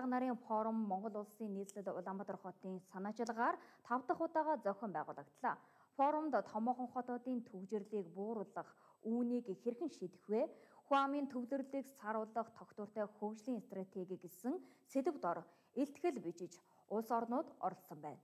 Нарын форум Монгол улсын нийслэл Улаанбаатар хотын санаачилгаар 5 дахь удаага зохион байгуулагдлаа. Форумд томоохон хотуудын төвжирлийг бууруулах, үүнийг хэрхэн шийдэх вэ? Хүн амын төвлөрлийг саруулах тогтвортой хөгжлийн стратеги гэсэн сэдэв дор илтгэл бичиж улс орнууд оролцсон байна.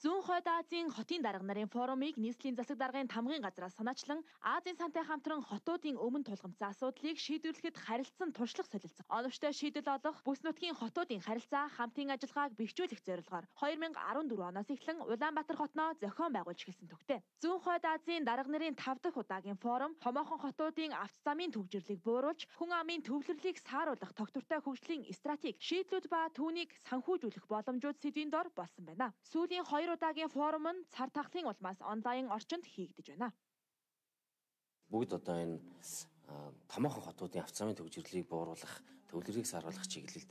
Зүүн хойд Азийн хотын дарга нарын форумыг нийслэлийн засаг даргын тамгын газраас санаачлан Азийн сантай хамтран хотуудын өмнө тулгамдсан асуудлыг шийдвэрлэхэд харилцсан туршлага солилцсон. Оновчтой шийдэл олох бүс нутгийн хотуудын харилцаа хамтын ажиллагааг бэхжүүлэх зорилгоор 2014 оноос эхлэн Улаанбаатар хотноо зохион байгуулж эхэлсэн төгтөө. Зүүн хойд Азийн дарга нарын 5 дахь удаагийн форум томоохон хотуудын авто замын төвжирлийг бууруулж хүн амын төвлөрлийг сааруулах тогтвортой хөгжлийн стратеги, шийдлүүд ба түүнийг санхүүжүүлэх боломжууд сэдвийн дор болсон байна. Сүүлийн 2 удаагийн форум нь цар тахлын улмаас онлайн орчинд хийгдэж байна. Бүгд одоо энэ томоохон хотуудын авто замын төвжирлийг бууруулах, төвлөрийг саруулах чиглэлд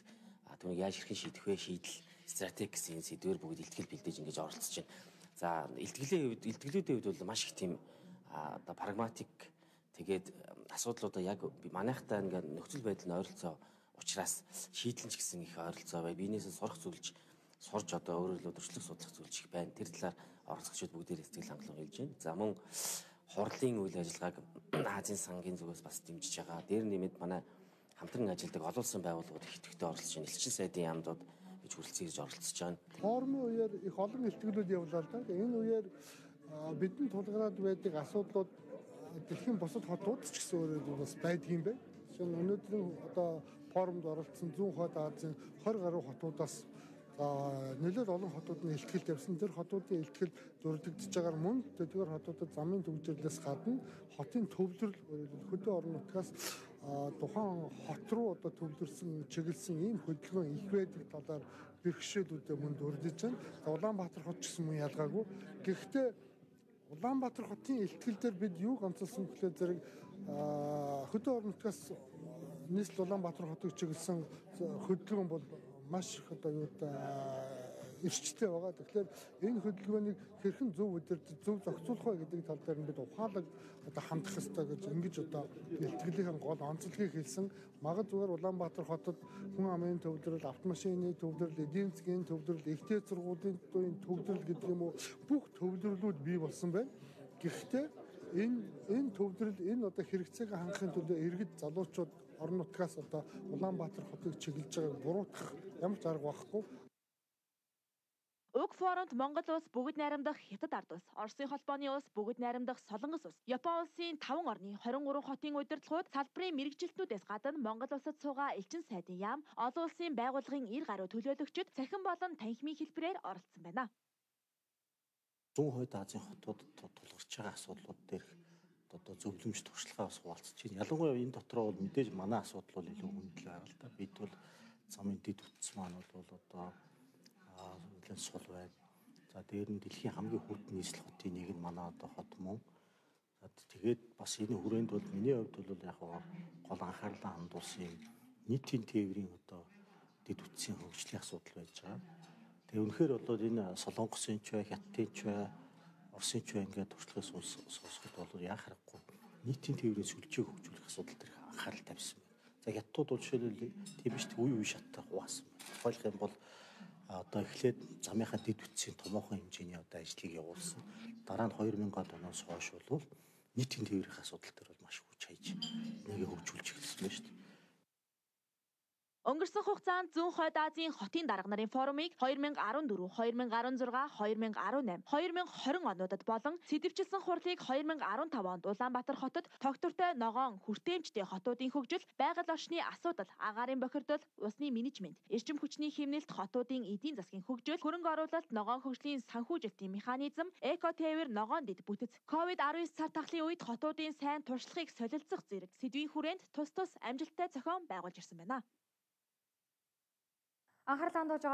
түүнийг яаж хэрхэн шийдэх вэ? Шийдэл, стратеги гэсэн сэдвээр бүгд илтгэл бэлдэж ингэж оролцож байна. За, илтгэлүүдийн хувьд бол маш их тийм одоо прагматик тэгээд асуудлуудаа яг манайхтай ингээд нөхцөл байдал нь ойролцоо учраас шийдлэн ч гэсэн их ойролцоо бай. Биенээсээ сурах зүйлж сурж одоо өөрөөр өдөрчлөх судлах зүйлж их байна. Тэр талаар оролцогчид бүгдээр сэтгэл хангалуун хэлж байна. За мөн хурлын үйл ажиллагааг Азийн сангийн зүгээс бас дэмжиж байгаа. Дээр нэмээд манай хамтран ажилладаг олон улсын байгууллагууд их идэвхтэй оролцож байна. Элчин сайдын яамдууд гэж хүрэлцэн ирж оролцож байна. Форумын үеэр их олон илтгэлүүд явлаа л да. Энэ үеэр бидний тулгараад байдаг асуудлууд дэлхийн бусад хотууд ч гэсэн өөрөө бас байдаг юм байна. Жишээ нь өнөөдрийн одоо форумд оролцсон зүүн хойд Азийн 20 гаруй хотуудаас нэлээд олон хотууд нь илтгэл тавьсан. Тэр хотуудын илтгэл дурддагдж байгаагаар мөн тэдгээр хотуудад замын төвжирлээс гадна хотын төвлөрөл хөдөө орон нутгаас тухайн хот руу одоо төвлөрсөн чиглэсэн ийм хөдөлгөөн их байдаг талаар бэрхшээлүүдээ мөн дурдж байна. Улаанбаатар хот ч гэсэн мөн ялгаагүй. Гэхдээ Улаанбаатар хотын илтгэл дээр бид юуг онцолсон гэхээр зэрэг хөдөө орон нутгаас нийслэл Улаанбаатар хотыг чиглэсэн хөдөлгөөн бол маш их одоо эрчтэй байгаа. Тэгэхээр энэ хөдөлгөөнийг хэрхэн зөв удирдах, зөв зохицуулах вэ гэдэг тал дээр нь бид ухаалаг одоо хандах ёстой гэж ингэж одоо илтгэлийнхэн гол онцлогийг хэлсэн. Магад зүгээр Улаанбаатар хотод хүн амын төвлөрөл, автомашины төвлөрөл, эдийн засгийн төвлөрөл, ихтэй сургуулийн төвлөрөл гэдэг юм уу бүх төвлөрлүүд бий болсон байна. Гэхдээ энэ төвлөрөл энэ одоо хэрэгцээг хангахын тулд иргэд залуучууд орон нутгаас одоо Улаанбаатар хотыг чиглэж байгааг буруутгах ямар ч арга байхгүй. Уг форумд Монгол улс бүгд найрамдах Хятад ард улс, Оросын холбооны улс бүгд найрамдах Солонгос улс, Япон улсын 5 орны 23 хотын удирдлагууд салбарын мэргэжилтнүүдээс гадна Монгол улсад суугаа элчин сайдын яам, олон улсын байгууллагын 90 гаруй төлөөлөгчид цахим болон танхимын хэлбэрээр оролцсон байна. Зүүн хойд Азийн хотуудад тулгарч байгаа асуудлууд дээр одоо зөвлөмж туршлагаа бас хуваалцж байна. Ялангуяа энэ дотроо бол мэдээж манай асуудал бол илүү хүндэл байгаа л да. Бид бол замын дэд үтс маань бол одоо нэлээд сул байна. За дээр нь дэлхийн хамгийн хүрд нийслэл хотын нэг нь манай одоо хот мөн. За тэгээд бас энэ хүрээнд бол миний хувьд бол яг гол анхаарлаа хандуулсан нийтийн тээврийн одоо дэд үтсийн хөгжлийн асуудал байж байгаа. Тэгээ үнэхээр бол энэ Солонгосын ч бай, Хятадын ч бай, Оросын ч бай ингээд туршлагаас сонсоход бол яа харахгүй нийтийн тээврийн сүлжээг хөгжүүлэх асуудал дээр анхаарал тавьсан байна. За Хятадууд бол жишээлбэл тийм биш үе шаттай хуваасан байна. Ойлгох юм бол одоо эхлээд замынхаа дэд үтсийн томоохон хэмжээний одоо ажлыг явуулсан. Дараа нь 2000-аад оноос хойш бол нийтийн тээврийн асуудал дээр бол маш хүч хайж нэгэ хөгжүүлж эхэлсэн байна шүү дээ. Өнгөрсөн хугацаанд Зүүн хойд Азийн хотын дарга нарын форумыг 2014, 2016, 2018, 2020 онуудад болон сэдэвчилсэн хурлыг 2015 онд Улаанбаатар хотод тогтвортой ногоон хүртээмжтэй хотуудын хөгжил, байгаль орчны асуудал, агаарын бохирдол, усны менежмент, эрчим хүчний хэмнэлт, хотуудын эдийн засгийн хөгжил, хөрөнгө оруулалт, ногоон хөгжлийн санхүүжилтийн механизм, эко-тээвэр, ногоон дэд бүтэц, COVID-19 цар тахлын үед хотуудын сайн туршлагыг солилцох зэрэг сэдвийн хүрээнд тус амжилттай зохион байгуулж ирсэн байна. Анхаарал хандуулж байгаа